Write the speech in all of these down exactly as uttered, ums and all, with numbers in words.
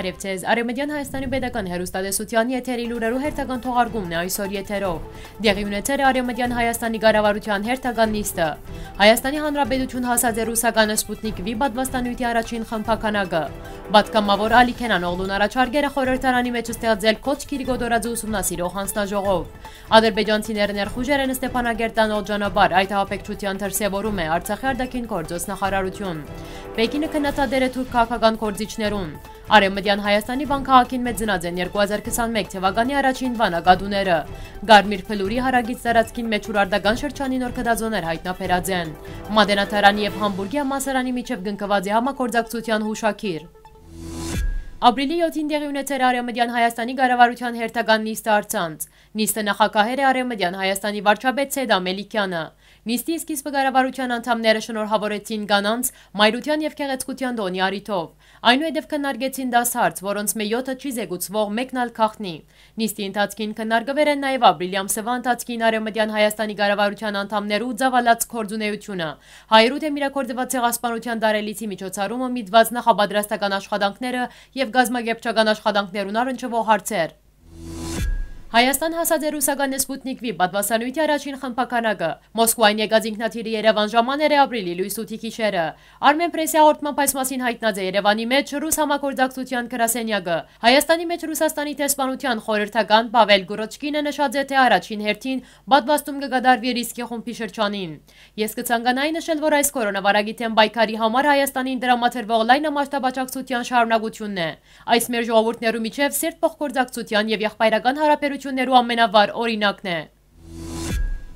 Բարեւ ձեզ։ Արեւմտեան Հայաստանի Պետական Հեռուստատեսութեան եթերի լուրերու հերթական թողարկումն է այսօր եթերով։ Տեղի ունեցեր է Արեւմտեան Հայաստանի կառավարութեան հերթական նիստը։ Հայաստանի Հանրապետություն հասած է ռուսական Սպուտնիկ V պատվաստանոյթի առաջին խմբականակը։ Պատգամաւոր Ալի Քենանօղլուն առաջարկեր է խորհրդարանի մէջ ստեղծել Քոչ Կիրի Կոտորաձի ուսումնասիրող հանձնաժողով։ Ադրբեջանցիները ներխուժեր են Ստեփանագերտան օղ ճանապարհ, այդ ահաբեկչութեան դրսեւորում է Արցախի արտաքին գործոց նախարարություն։ Պեկինը քննադատեր է թուրք քաղաքական գործիչներուն։ Արեւմտեան Հայաստանի Վան քաղաքին մէջ ծնած են երկու հազար քսանմեկ թեւականի առաջին վանագատուները։ Կարմիր փլուրի հարակից տարածքին մէջ ուրարտական շրջանի նոր գտածոներ յայտնաբերած են։ Մատենադարանի եւ Համբուրգի համալսարանի միջեւ կնքուած է համագործակցութեան յուշագիր։ Ապրիլի յոթին տեղի ունեցեր Արեւմտեան Հայաստանի կառավարութեան հերթական նիստը առցանց։ Նիստը նախագահեր է Արեւմտեան Հայաստանի վարչապետ Սեդա Մելիքյանը։ Նիստի սկիզբը կառավարութեան անդամները շնորհաւորեցին կանանց, մայրութեան եւ գեղեցկութեան տօնի առիթով։ Այնուհետեւ քննարկեցին դաս հարց, որոնցմէ յոթը չի զեկուցուող, մէկն ալ գաղտնի։ Նիստի ընթացքին քննարկուեր են նաեւ ապրիլի ամսեան ընթացքին Արեւմտեան Հայաստանի կառավարութեան անդամներու ծաւալած գործունեությունը, հայերու դէմ իրագործուած ցեղասպանութեան տարելիցի միջոցառումը միտված նախապատրաստական աշխատանքները եւ կազմակերպչական աշխատանքներուն առնչուող հարցեր։ Հայաստան հասած է ռուսական Սպուտնիկ V պատվաստանոյթի առաջին խմբականակը։ Մոսկուային եկած ինքնաթիռը Երեւան ժամաներ է ապրիլի լոյս ութի գիշերը։ Արմէնփրեսի հաղորդմամբ այս մասին յայտնած է Երեւանի մէջ ռուս համագործակցութեան գրասենյակը։ Հայաստանի մէջ Ռուսաստանի դեսպանութեան խորհրդական Պավել Կուրոչկինը նշած է, թէ առաջին հերթին պատվաստում կը կատարուի ռիսկի խումբի շրջանին։ Ես կցանկանայի նշել, որ այս կորոնավարակի դէմ պայքարի համար Հայաստանին տրամադրուող լայնամասշտաբ աջակցութեան շարունակությունն է։ Այս մեր ժողովուրդներու միջեւ սերտ փոխգործակցութեան եւ եղբայրական յարաբերութիւններու ամենավառ օրինակն է։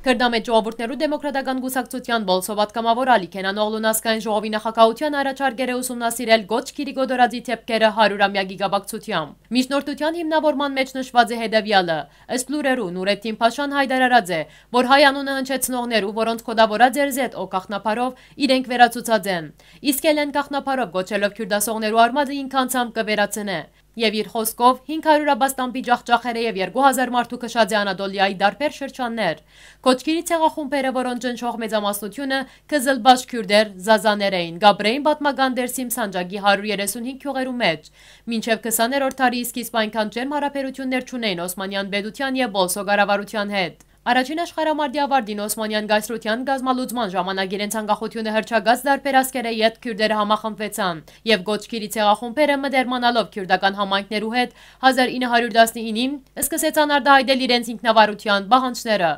Քրտամետ ժողովուրդներու դեմոկրատական կուսակցութեան Պոլսոյ պատգամաւոր Ալի Քենանօղլուն ազգային ժողովի նախագահութեան առաջարկեր է ուսումնասիրել Կոչ Կիրի Կոտորաձի դէպքերը հարիւրամեակի կապակցութեամբ։ Միջնորդութեան հիմնաւորման մէջ նշուած է հետեւեալը։ Ըստ լուրերու, Նուրեդդին Փաշան յայտարարած է, որ հայ անունը հնչեցնողներու, որոնց կոդաւորած էր Z O գաղտնաբառով, իրենք վերացուցած են։ Իսկ Էլեն գաղտնաբառով կոչելով քիւրտասողներու արմատը ինքը անձամբ կը վերացնէ։ Եւ իր խօսքով, հինգ հարիւր աբաստամբի ջախջախեր է եւ երկու հազար մարդու քշած է Անատոլիայի տարբեր շրջաններ։ Կոչ Կիրի ցեղախումբերը, որոնց ճնշող մեծամասնությունը քզլբաշ քիւրտեր, զազաներ էին, կապրէին պատմական Դերսիմ սանջակի հարիւր երեսունհինգ գիւղերու մէջ։ Մինչեւ քսաներորդ դարի սկիզբ այնքան ջերմ յարաբերութիւններ չունէին Օսմանեան պետութեան եւ Պոլսոյ կառավարութեան հետ։ Առաջին աշխարհամարտի աւարտին Օսմանեան կայսրութեան կազմալուծման ժամանակ իրենց անկախութիւնը հռչակած տարբեր ազգերէ ետք քիւրտերը համախմբուեցան եւ Կոչ Կիրի ցեղախումբերը, մտերմանալով քիւրտական համայնքներու հետ, հազար ինը հարիւր տասնինին սկսեցան արտայայտել իրենց ինքնավարութեան պահանջները։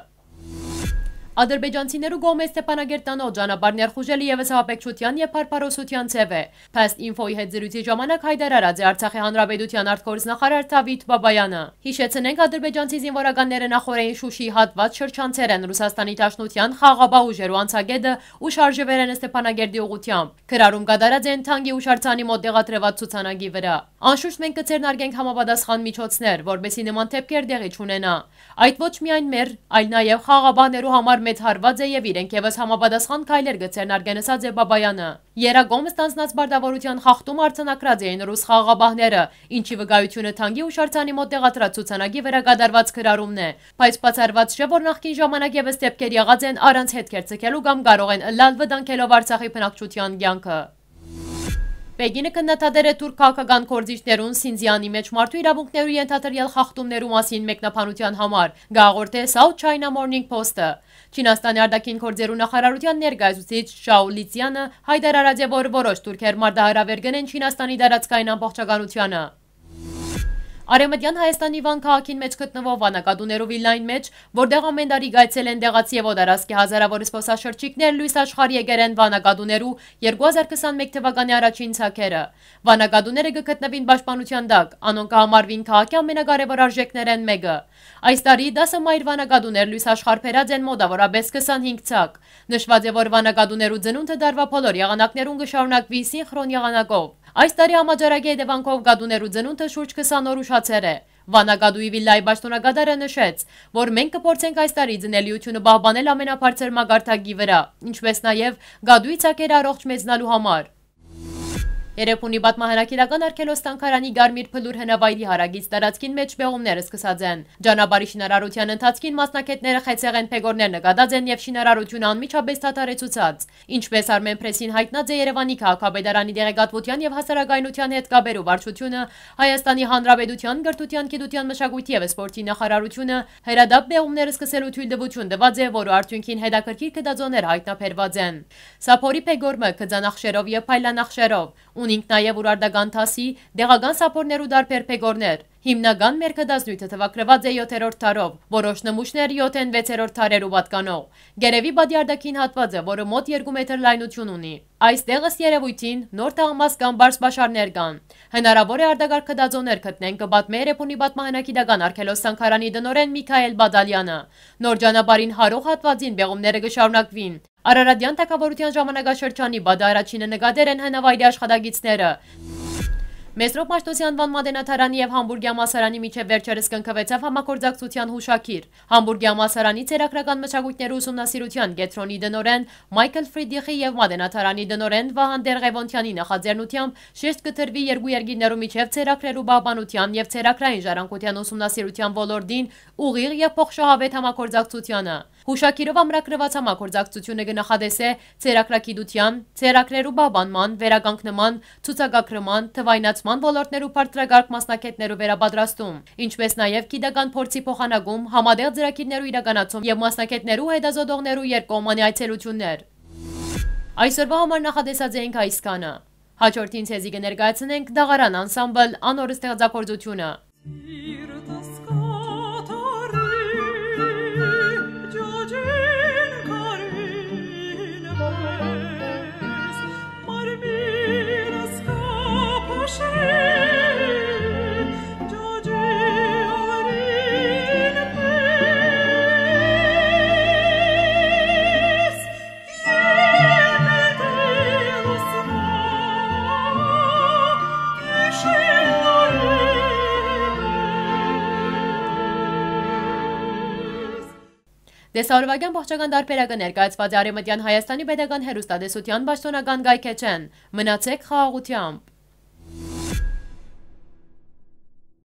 Ադրբեջանցիներու կողմէ Ստեփանագերտանոց ճանապարհ ներխուժելը եւս ահաբեկչութեան եւ փարփարոսութեան ձեւ է։ Past Info-ի հետ զրոյցի ժամանակ յայտարարած է Արցախի Հանրապետութեան արտգործնախարար Դավիթ Բաբայանը։ Յիշեցնենք, ադրբեջանցի զինուորականները նախօրէն Շուշիի հատուած շրջանցեր են Ռուսաստանի Դաշնութեան խաղաղապահ ուժերու անցակէտը ու շարժուեր են Ստեփանագերտի ուղղութեամբ։ Գրառում կատարած են թանկի յուշարձանի մօտ տեղադրուած ցուցանակի վրա։ Անշուշտ մենք կը ձեռնարկենք համապատասխան միջոցներ, որպեսզի նման դէպքեր տեղի չունենայ։ Այդ ոչ միայն մեր, այլ նաեւ խաղաղապահներու համար մեծ հարուած է եւ իրենք եւս համապատասխան քայլեր կը ձեռնարկեն, ըսած է Բաբայանը։ Եռակողմ ստանձնած պարտաւորութեան խախտում արձանագրած էին ռուս խաղաղապահները, ինչի վկայությունը թանկի յուշարձանի մօտ տեղադրած ցուցանակի վրա կատարուած գրառումն է, բայց բացառված չէ, որ նախկին ժամանակ եւս դէպքեր եղած են առանց հետքեր ձգելու կամ կարող են ըլլալ վտանգելով Արցախի բնակչութեան կեանքը։ Պեկինը քննադատեր է թուրք քաղաքական գործիչներուն Սինզիանի մէջ մարդու իրաւունքներու ենթադրյալ խախտումներու մասին մեկնաբանութեան համար, կ'աղորդէ South China Morning Post-ը։ Չինաստանի արտաքին գործերու նախարարութեան ներկայացուցիչ Շաու Լիցյանը յայտարարած է, որ որոշ թուրքեր մարտահրաւեր կ'ընեն Չինաստանի տարածքային ամբողջականությանը։ Արեւմտեան Հայաստանի Վան քաղաքին մէջ գտնուող Վանագատուներու վիլլային մէջ, որտեղ ամէն տարի կայցելեն տեղացի եւ օտարազգի հազարաւոր զբօսաշրջիկներ, լոյս աշխարհ եկեր են Վանագատուներու երկու հազար քսանմեկ թվականի առաջին ցակերը։ Վանագատուները կը գտնուին պաշտպանութեան տակ, անոնք կը համարուին քաղաքի ամենակարեւոր արժէքներէն մէկը։ Այս տարի տասը մայր Վանագատուներ լոյս աշխարհ բերած են մոտաւորապէս քսանհինգ ցակ։ Նշուած է, որ Վանագատուներու ծնունդը տարուայ բոլոր եղանակներուն կը շարունակուի սինխրոն եղանակով։ Այս տարի համաճարակի հետեւանքով կատուներու ծնունդը շուրջ քսան օր ուշացեր է։ Վանա կատուի վիլլայի պաշտօնակատարը նշեց, որ մենք կփորձենք այս տարի ծնելիությունը պահպանել ամենաբարձր մակարդակի վրա, ինչպես նաև կատուի ցակերը առողջ մեծնալու համար։ Երեւանի պատմահանագիտական արգելոց թանգարանի Կարմիր Բլուր հնավայրի հարակից տարածքին մէջ պեղումներ սկսած են։ Ճանապարհի շինարարութեան ընթացքին մասնագէտները խեցեղէն բեկորներ նկատած են եւ շինարարութիւնը անմիջապէս դադարեցուցած։ Ինչպէս Արմենփրեսին յայտնած է Երեւանի քաղաքապետարանի տեղեկատվութեան եւ հասարակայնութեան հետ կապերու վարչութիւնը, Հայաստանի Հանրապետութեան կրթութեան, գիտութեան, մշակոյթի եւ սպորտի նախարարութիւնը հրատապ պեղումներ սկսելու թոյլտուութիւն տուած է, որու արդիւնքին հետաքրքիր գտածոներ յայտնաբերուած են։ Սափորի բեկոր մը, գծանախշերով եւ փայլանախշերով, ունինք նաեւ ուրարտական դասի, տեղական սափորներու տարբեր բեկորներ։ Հիմնական մեր գտածնիւթը թուագրուած է յոթերորդ դարով, որոշ նմուշներ յոթ են վեցերորդ դարերու պատկանող։ Գերեւի պատի արտաքին հատուածը, որը մօտ երկու մետր լայնութիւն ունի։ Այս տեղ, ըստ երեւոյթին, նոր թաղամաս կամ պարզ պաշարներ կան։ Հնարաւոր է արտակարգ գտածոներ գտնեն, կը պատմէ Երեւանի պատմահանագիտական արգելոց թանգարանի տնօրէն Միքայել Բադալեանը։ Նոր ճանապարհին յարող հատուածին պեղումները կը շարունակուին։ Արարատեան թագաւորութեան ժամանակաշրջանի պատը առաջինը նկատեր են հնավայրի աշխատակիցները։ Մեսրոպ Մաշտոցի անուան մատենադարանի եւ Համբուրգի համալսարանի միջեւ վերջերս կնքուեցաւ համագործակցութեան յուշագիր։ Համբուրգի համալսարանի ցերագրական մշակոյթներու ուսումնասիրութեան կեդրոնի տնօրէն Մայքլ Ֆրիդիխի եւ մատենադարանի տնօրէն Վահան Տերղեւոնթեանի նախաձեռնութեամբ շեշտ կը դրուի երկու երկիրներու միջեւ ցերագրերու պահպանութեան եւ ցերագրային ժառանգութեան ուսումնասիրութեան ոլորտին ուղիղ եւ փոխշահաւէտ համագործակցությանը։ Յուշագիրով ամրագրուած համագործակցութիւնը կը նախատեսէ ցերագրագիտութեան, ցերագրերու պահպանման, վերականգնման, ցուցակագրման, թուայնացման ոլորտներու բարձրակարգ մասնագէտներու վերապատրաստում, ինչպէս նաեւ գիտական փորձի փոխանակում, համատեղ ծրագիրներու իրականացում եւ մասնագէտներու ու հետազոտողներու երկկողմանի այցելութիւններ։ Այսօրվա համար նախատեսած էինք այսքանը։ Հաջորդին ձեզի կը ներկայացնենք Դաղարան անսամբլ անոր ստեղծագործութիւնը։ Տեսահոլովակեան ողջական տարբերակը ներկայացուած է Արեւմտեան Հայաստանի Պետական Հեռուստատեսութեան պաշտօնական կայքէջէն։ Մնացեք խաղաղութեամբ։